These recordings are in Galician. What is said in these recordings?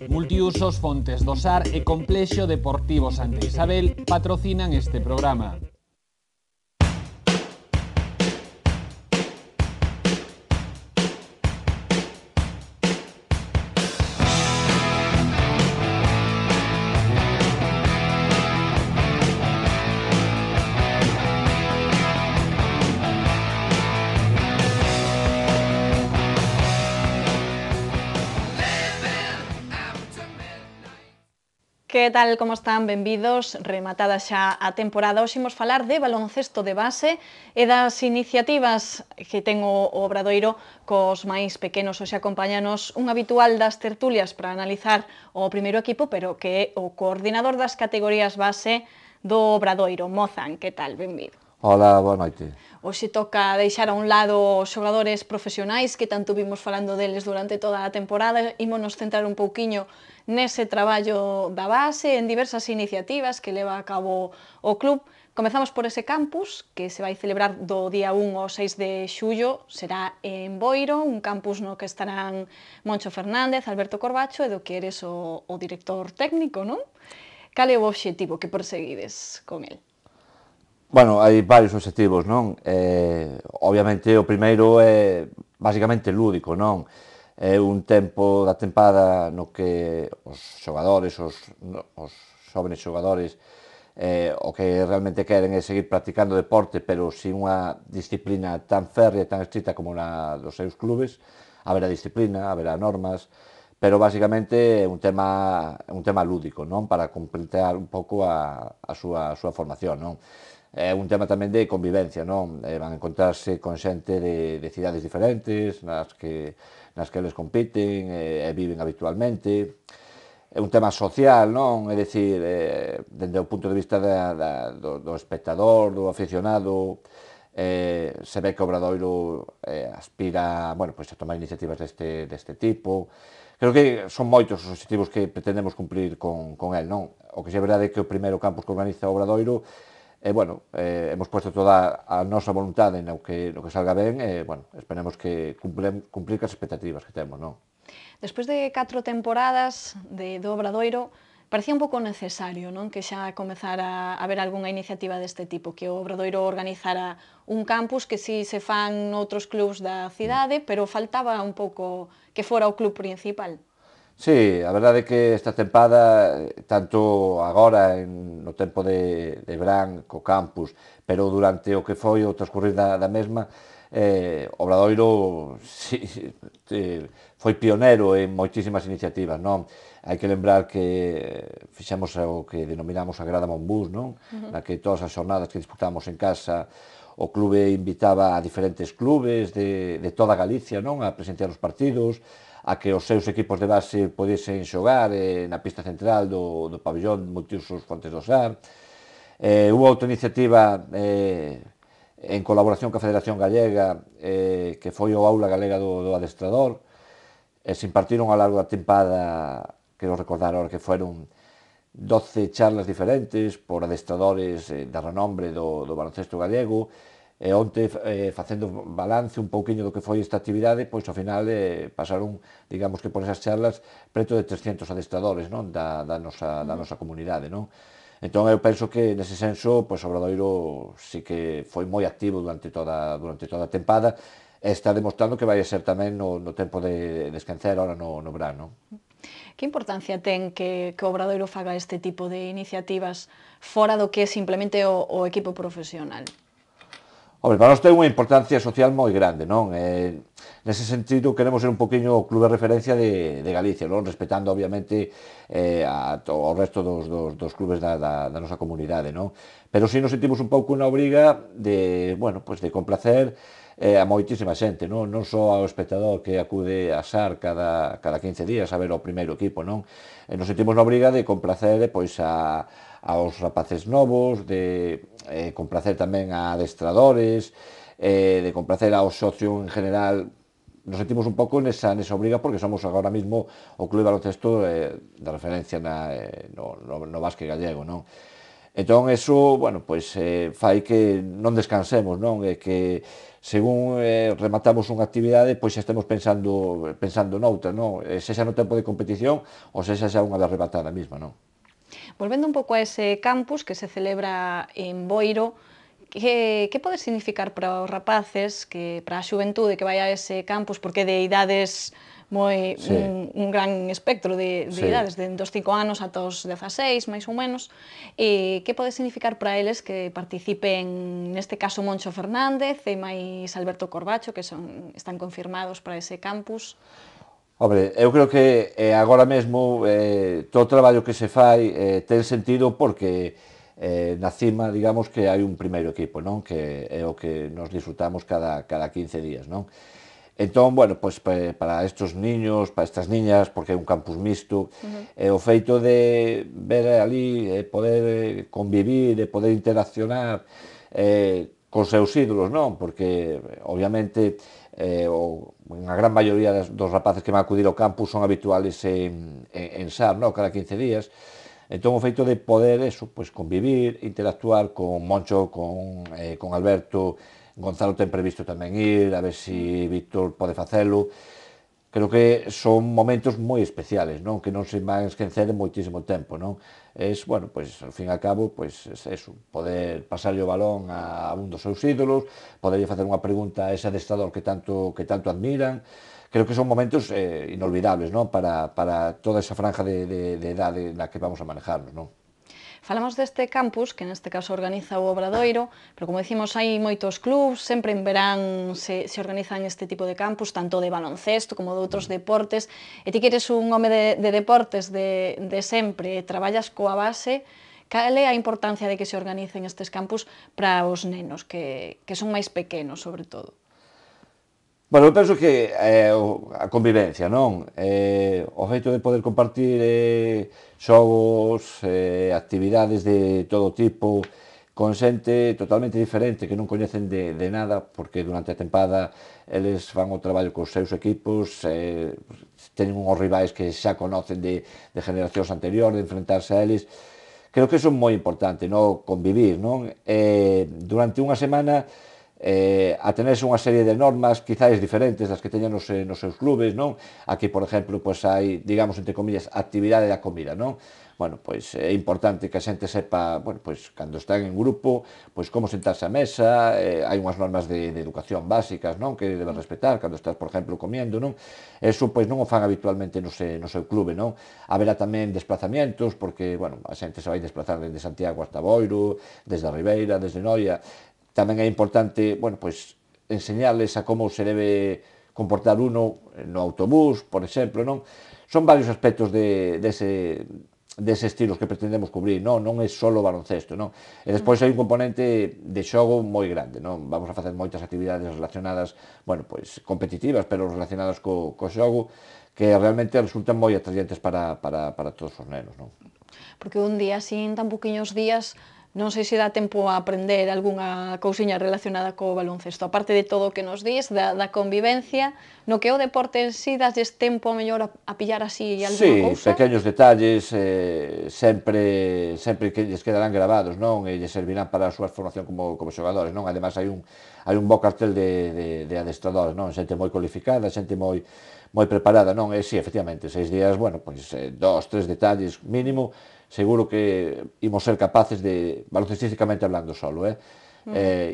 Multiusos Fontes do Sar e Complexo Deportivo Santa Isabel patrocinan este programa. Que tal, como están? Benvidos, rematada xa a temporada. Hoxe imos falar de baloncesto de base e das iniciativas que ten o Obradoiro cos máis pequenos. Hoxe acompáñanos un habitual das tertulias para analizar o primeiro equipo, pero que é o coordinador das categorías base do Obradoiro, Mozan. Que tal? Benvido. Hola, boa noite. Hoxe toca deixar a un lado os xogadores profesionais que tanto vimos falando deles durante toda a temporada. Ímonos centrar un pouquiño nese traballo da base, en diversas iniciativas que leva a cabo o club. Comezamos por ese campus que se vai celebrar do día 1 ao 6 de xullo. Será en Boiro, un campus no que estarán Moncho Fernández, Alberto Corbacho e do que eres o director técnico, non? Cal é o obxectivo que perseguides con el? Bueno, hai varios obxectivos, non? Obviamente o primeiro é basicamente lúdico, non? É un tempo da tempada no que os xogadores, os xóvenes xogadores, o que realmente queren é seguir practicando deporte, pero sin unha disciplina tan férrea e tan estricta como na dos seus clubes. Haberá disciplina, haberá normas, pero basicamente é un tema lúdico, non? Para completar un pouco a súa formación, non? É un tema tamén de convivencia, non? Van a encontrarse con xente de cidades diferentes, nas que eles compiten e viven habitualmente. É un tema social, non? É dicir, dende o punto de vista do espectador, do aficionado, se ve que o Obradoiro aspira, bueno, pois a tomar iniciativas deste tipo. Creo que son moitos os obxectivos que pretendemos cumplir con el, non? O que é verdade é que o primeiro campus que organiza o Obradoiro, bueno, hemos puesto toda a nosa voluntade no que salga ben e, bueno, esperemos que cumplir as expectativas que temos, non? Despois de 4 temporadas do Obradoiro, parecía un pouco necesario, non? Que xa comezara a haber algunha iniciativa deste tipo, que o Obradoiro organizara un campus que si se fan noutros clubs da cidade, pero faltaba un pouco que fora o club principal. Sí, a verdade é que esta tempada, tanto agora no tempo de verán co campus, pero durante o que foi o transcurrir da mesma, o Obradoiro foi pionero en moitísimas iniciativas, non? Hai que lembrar que fixemos o que denominamos a Grada Monbús, non? Na que todas as xornadas que disputamos en casa o clube invitaba a diferentes clubes de toda Galicia, non? A presenciar os partidos, a que os seus equipos de base podesen xogar na pista central do pabellón Multiusos Fontes do Sar. Hubo outra iniciativa en colaboración coa Federación Gallega, que foi o Aula Galega do Adestrador. Se impartiron ao largo da tempada, quero recordar ahora que foron 12 charlas diferentes por adestradores de renombre do baloncesto gallego, e onte facendo balance un pouquiño do que foi esta actividade, pois ao final pasaron, digamos que por esas charlas, preto de 300 adestradores, non? Da nosa comunidade, non? Entón eu penso que nese senso, pois o Obradoiro sí que foi moi activo durante toda a tempada e está demostrando que vai ser tamén no tempo de esquencer ahora no verán, non? Que importancia ten que o Obradoiro faga este tipo de iniciativas fora do que é simplemente o equipo profesional? Hombre, para nós ten unha importancia social moi grande, non? Nese sentido, queremos ser un poquinho o clube de referencia de Galicia, non? Respetando, obviamente, ao resto dos clubes da nosa comunidade, non? Pero si nos sentimos un pouco na obriga de, bueno, pues de complacer a moitísima xente, non? Non só ao espectador que acude a SAR cada 15 días a ver o primeiro equipo, non? Nos sentimos na obriga de complacer, pois, aos rapaces novos, de complacer tamén a adestradores, de complacer ao socio en general. Nos sentimos un pouco nesa obriga porque somos agora mesmo o clube de baloncesto de referencia no básquet gallego, non? Entón, eso, bueno, pois, fai que non descansemos, non? E que, según rematamos unha actividade, pois xa estemos pensando noutra, non? Sexa no tempo de competición ou sexa xa unha vez rematada mesma, non? Volvendo un pouco a ese campus que se celebra en Boiro, que pode significar para os rapaces, para a xuventude que vai a ese campus, porque de idades Sí, un gran espectro de sí. idades, de dos 5 anos ata os 16, máis ou menos, que pode significar para eles que participen, neste caso, Moncho Fernández e máis Alberto Corbacho, que están confirmados para ese campus? Hombre, eu creo que agora mesmo todo o traballo que se fai ten sentido porque na cima, digamos que hai un primeiro equipo, non? Que é o que nos disfrutamos cada 15 días, non? Entón, bueno, pois para estes niños, para estas niñas, porque é un campus mixto, o feito de ver ali, poder convivir, de poder interaccionar cos seus ídolos, non? Porque, obviamente, unha gran maioría dos rapaces que van acudir ao campus son habituales en SAR, non? Cada 15 días. Entón, o feito de poder, eso, pois, convivir, interactuar con Moncho, con Alberto, Gonzalo ten previsto tamén ir, a ver se Víctor pode facelo. Creo que son momentos moi especiales, non? Que non se van esquecer en moitísimo tempo, non? Bueno, pois, ao fin e ao cabo, pois, eso, poder pasarlle o balón a un dos seus ídolos, poderlle facer unha pregunta a ese adestrador que tanto admiran. Creo que son momentos inolvidables, non? Para toda esa franja de idade na que vamos a manejarnos, non? Falamos deste campus, que neste caso organiza o Obradoiro, pero como dicimos, hai moitos clubs, sempre en verán se organizan este tipo de campus, tanto de baloncesto como de outros deportes, e ti que eres un home de deportes de sempre, traballas coa base, cal é a importancia de que se organicen estes campus para os nenos, que son máis pequenos, sobre todo? Bueno, eu penso que a convivencia, non? O feito de poder compartir xogos, actividades de todo tipo, con xente totalmente diferente que non coñecen de nada, porque durante a tempada eles fan o traballo cos seus equipos, teñen unhos rivais que xa conocen de generacións anteriores, de enfrentarse a eles. Creo que iso é moi importante, non? Convivir, non? Durante unha semana a tenerse unha serie de normas quizáis diferentes das que teñen nos seus clubes, non? Aquí, por exemplo, pois hai, digamos, entre comillas, actividade da comida, non? Bueno, pois é importante que a xente sepa, bueno, pois cando están en grupo, pois como sentarse á mesa, hai unhas normas de educación básicas, non? Que debes respetar cando estás, por exemplo, comiendo, non? Eso, pois, non o fan habitualmente no seu clube, non? Haberá tamén desplazamientos, porque, bueno, a xente se vai desplazar desde Santiago hasta Boiro, desde a Ribeira, desde Noia. Tamén é importante, bueno, pois, enseñarles a como se debe comportar uno no autobús, por exemplo, non? Son varios aspectos dese estilos que pretendemos cubrir, non? Non é só baloncesto, non? E despois hai un componente de xogo moi grande, non? Vamos a facer moitas actividades relacionadas, bueno, pois, competitivas, pero relacionadas co xogo, que realmente resultan moi atrayentes para todos os nenos, non? Porque un día, sin tan poquinhos días, non sei se dá tempo a aprender algunha cousiña relacionada co baloncesto, aparte de todo o que nos dís, da convivencia, no que é o deporte en sí, dasles tempo mellor a pillar así algunha Sí, cousa? pequeños detalles sempre que lles quedarán grabados, non? E lles servirán para a súa formación como xogadores, non? Ademais hai un bo cartel de adestradores, non? Xente moi cualificada, xente moi preparada, non? E si, efectivamente, 6 días, bueno, pois 2, 3 detalles mínimo, seguro que imos ser capaces de, baloncestísticamente hablando solo,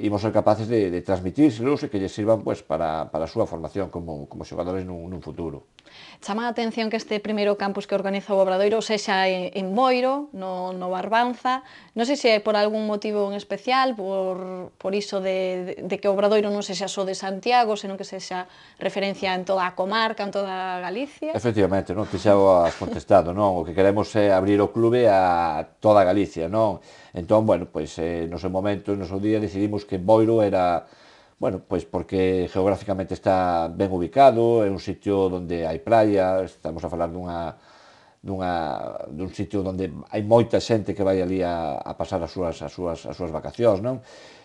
imos ser capaces de transmitírselos e que lles sirvan, pois, para a súa formación como xogadores nun futuro. Chama a atención que este primeiro campus que organiza o Obradoiro sexa en Boiro, no Barbanza. Non sei se é por algún motivo en especial, por iso de que o Obradoiro non sexa só de Santiago, senón que sexa referencia en toda a comarca, en toda Galicia. Efectivamente, non? Ti xa o has contestado, non? O que queremos é abrir o clube a toda Galicia, non? Entón, bueno, pois no seu momento, no seu día, decidimos que Boiro era, bueno, pois porque geográficamente está ben ubicado, é un sitio onde hai praia, estamos a falar dun sitio onde hai moita xente que vai ali a pasar as súas vacacións, non?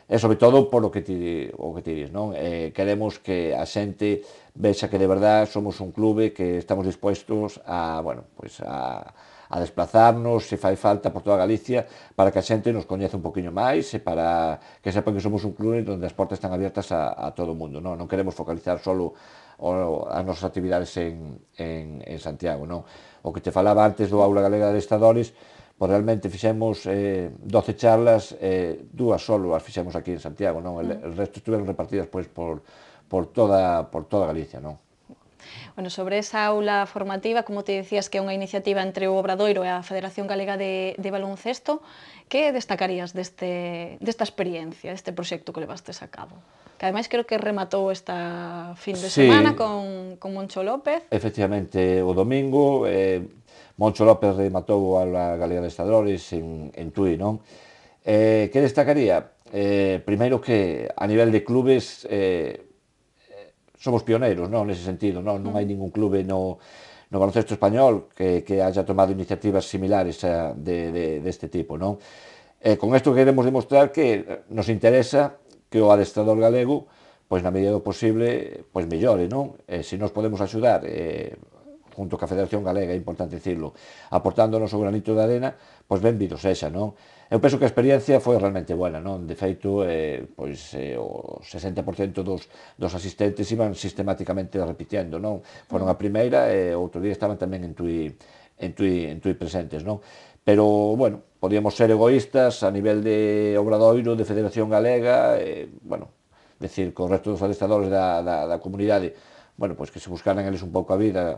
E sobre todo por o que ti dis, non? Queremos que a xente vexa que de verdad somos un clube que estamos dispuestos a, bueno, pues a desplazarnos, se fai falta por toda Galicia, para que a xente nos coñece un poquinho máis e para que sepan que somos un clube onde as portas están abiertas a todo o mundo, non? Non queremos focalizar solo as nosas actividades en Santiago, non? O que te falaba antes do Aula Galega de Adestradores, pois realmente fixemos 12 charlas, dúas solo as fixemos aquí en Santiago, non? El resto estuveron repartidas pois por toda Galicia, non? Bueno, sobre esa aula formativa, como te decías que é unha iniciativa entre o Obradoiro e a Federación Galega de Baloncesto, que destacarías desta experiencia, deste proxecto que levastes a cabo? Que ademais creo que rematou esta fin de semana con Moncho López. Efectivamente, o domingo, Moncho López rematou a Aula Galega de Adestradores en Tui, non? Que destacaría? Primeiro que a nivel de clubes somos pioneiros, non, nese sentido, non hai ningún clube no baloncesto español que haya tomado iniciativas similares deste tipo, non? Con isto queremos demostrar que nos interesa que o adestrador galego, pois na medida do posible, pois mellore, non? Se nos podemos axudar, junto ca Federación Galega, é importante dicirlo, aportándonos o granito de arena, pois benvido sexa, non? Eu penso que a experiencia foi realmente buena, non? De feito, pois o 60% dos asistentes iban sistemáticamente repitiendo, non? Foron a primeira e outro día estaban tamén en Tui presentes, non? Pero, bueno, podíamos ser egoístas a nivel de Obradoiro, de Federación Galega, bueno, decir, co resto dos adestradores da comunidade, bueno, pois que se buscaran eles un pouco a vida,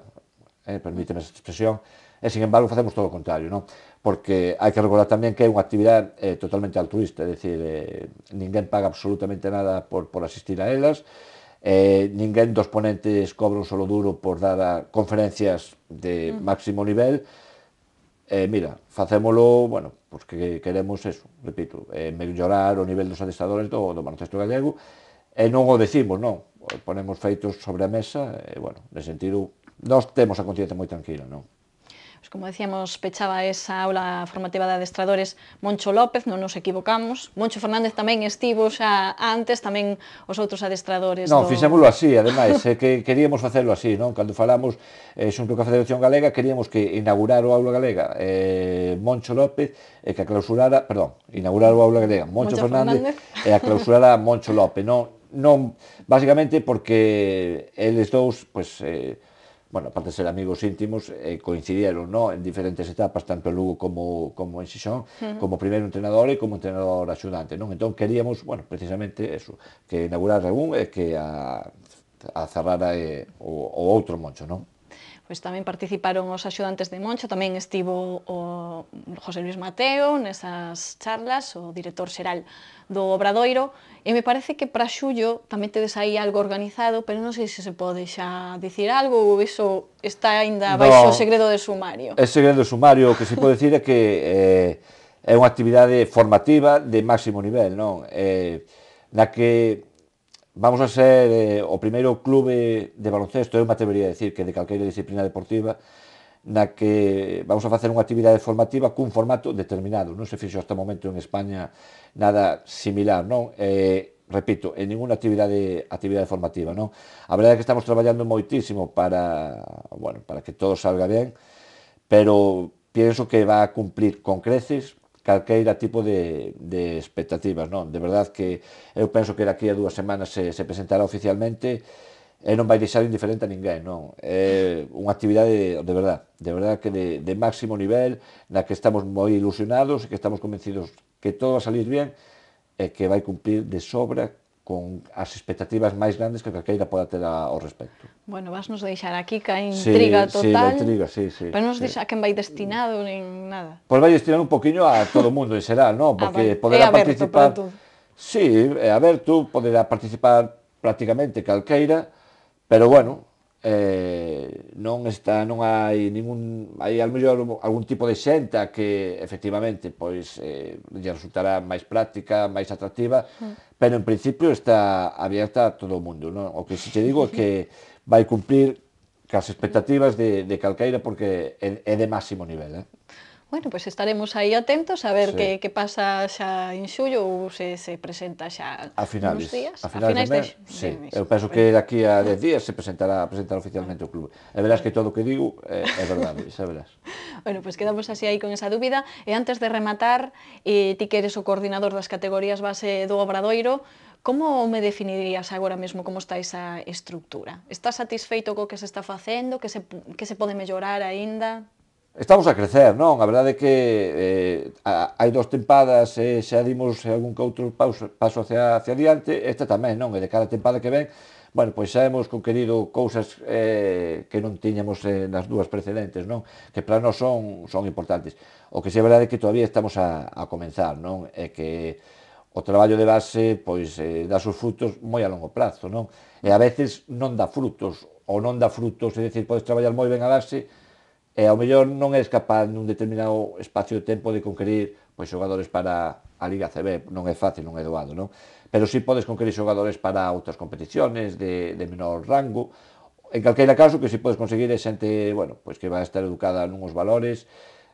permíteme esa expresión, e, sin embargo, facemos todo o contrario, non? Porque hai que recordar tamén que é unha actividade totalmente altruista, é dicir, ninguén paga absolutamente nada por asistir a elas, ninguén dos ponentes cobra un solo duro por dar conferencias de máximo nivel. Mira, facémolo, bueno, porque queremos eso, repito, mellorar o nivel dos adestradores do baloncesto gallego, e non o decimos, non, ponemos feitos sobre a mesa, e, bueno, nesse sentido, nós temos a conciencia moi tranquila, non? Pues como decíamos, pechaba esa aula formativa de adestradores Moncho López, non nos equivocamos. Moncho Fernández tamén estivo xa antes, tamén os outros adestradores. Non, fixémoslo así, ademais, que queríamos facelo así, non? Cando falamos xunto coa Federación Galega, queríamos que inaugurar o Aula Galega Moncho López e que a clausurara, perdón, inaugurar o Aula Galega Moncho Fernández e a clausurara Moncho López, non, basicamente porque eles dous, pois, bueno, aparte de ser amigos íntimos, coincidieron, ¿no?, en diferentes etapas, tanto en Lugo como en Xixón, como primeiro entrenador e como entrenador axudante, non? Entón queríamos, bueno, precisamente eso, que inaugurara un e que a cerrara o outro Moncho, non? Pois tamén participaron os axudantes de Moncho, tamén estivo o José Luis Mateo nesas charlas, o director xeral do Obradoiro, e me parece que para xullo tamén tedes aí algo organizado, pero non sei se se pode xa dicir algo ou iso está aínda baixo o segredo de sumario. É segredo de sumario, o que se pode dicir é que é unha actividade formativa de máximo nivel, non? Na que vamos a ser o primeiro clube de baloncesto, eu me atrevería a decir que de calqueira disciplina deportiva, na que vamos a facer unha actividade formativa cun formato determinado. Non se fixo hasta o momento en España nada similar, non? Repito, en ninguna actividade formativa, non? A verdade é que estamos traballando moitísimo para que todo salga ben, pero pienso que va a cumplir con creces calqueira tipo de expectativas, non? De verdad que eu penso que daqui a 2 semanas se presentará oficialmente e non vai deixar indiferente a ninguén, non? É unha actividade de verdad que de máximo nivel, na que estamos moi ilusionados e que estamos convencidos que todo va a salir bien e que vai cumplir de sobra con as expectativas máis grandes que calqueira poda ter ao respecto. Bueno, vas nos deixar aquí ca intriga total. Sí, la intriga, sí. Pero non nos dixa a quen vai destinado nin nada. Pois vai destinado un poquinho a todo o mundo en xeral, non? Porque vale. poderá aberto participar... Sí, é aberto, poderá participar prácticamente calqueira, pero bueno, non hai ningún... Hai ao mellor algún tipo de xenta que efectivamente pois lle resultará máis práctica, máis atractiva, pero en principio está abierta a todo o mundo, non? O que si te digo é que vai cumplir cas expectativas de calqueira porque é de máximo nivel, Bueno, pois estaremos aí atentos a ver Sí. que pasa xa en xullo ou se presenta xa A nuns finales, días. a finales de mes, sí. mes. Eu penso que daqui a 10 días se presentará oficialmente o clube. E verás que todo o que digo é verdade, xa verás. Bueno, pois quedamos así aí con esa dúbida. E antes de rematar, ti que eres o coordinador das categorías base do Obradoiro, como me definirías agora mesmo como está esa estructura? Estás satisfeito co que se está facendo, que se pode mellorar aínda? Estamos a crecer, non? A verdade é que hai 2 tempadas e xa dimos algún que outro paso hacia adiante, esta tamén, non? E de cada tempada que ven, bueno, pois xa hemos conquerido cousas que non tiñamos nas dúas precedentes, non? Que para nós son importantes. O que sí é verdade é que todavía estamos a comenzar, non? E que o traballo de base pois dá os frutos moi a longo prazo, non? E a veces non dá frutos, ou non dá frutos, é dicir, podes traballar moi ben a base, e ao mellor non és capaz nun determinado espacio de tempo de conquerir pois xogadores para a Liga CB, non é fácil, non é doado, non? Pero si podes conquerir xogadores para outras competiciones de menor rango. En calqueira caso, que si podes conseguir é xente, bueno, pois que vai estar educada nuns valores,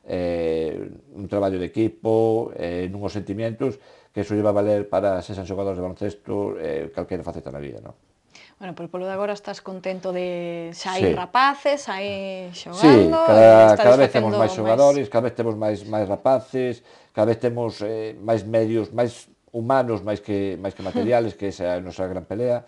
un traballo de equipo, nuns sentimientos, que iso lle va a valer para se xan xogadores de baloncesto, calqueira faceta na vida, non? Bueno, pois polo de agora estás contento de xa hai Sí. rapaces, aí Sí, xogando, cada vez temos máis xogadores, cada vez temos máis rapaces, cada vez temos máis medios, máis humanos, máis que materiales, que esa é a nosa gran pelea.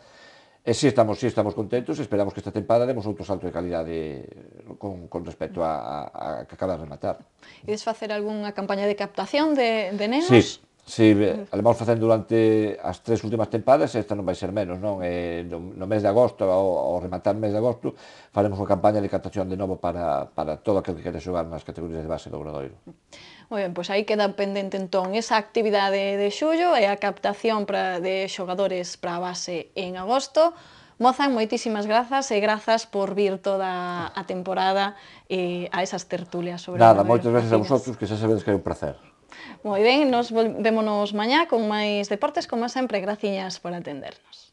E si estamos contentos, esperamos que esta tempada demos outro salto de calidade con respecto a que acaba de rematar. Ides facer algunha campaña de captación de nenos? Sí, sí, a vamos facendo durante as 3 últimas tempadas, esta non vai ser menos, non? No mes de agosto, ao rematar o mes de agosto, faremos unha campaña de captación de novo para todo aquel que quere xogar nas categorías de base do Obradoiro. Moi ben, pois aí queda pendente entón esa actividade de xullo e a captación de xogadores para a base en agosto. Mozan, moitísimas grazas e grazas por vir toda a temporada a esas tertulias sobre Nada, Obradoiro moitas gracias a Cocinas. vosotros, que xa sabedes que é un placer. Moi ben, nos vémonos mañá con máis deportes, como sempre, graciñas por atendernos.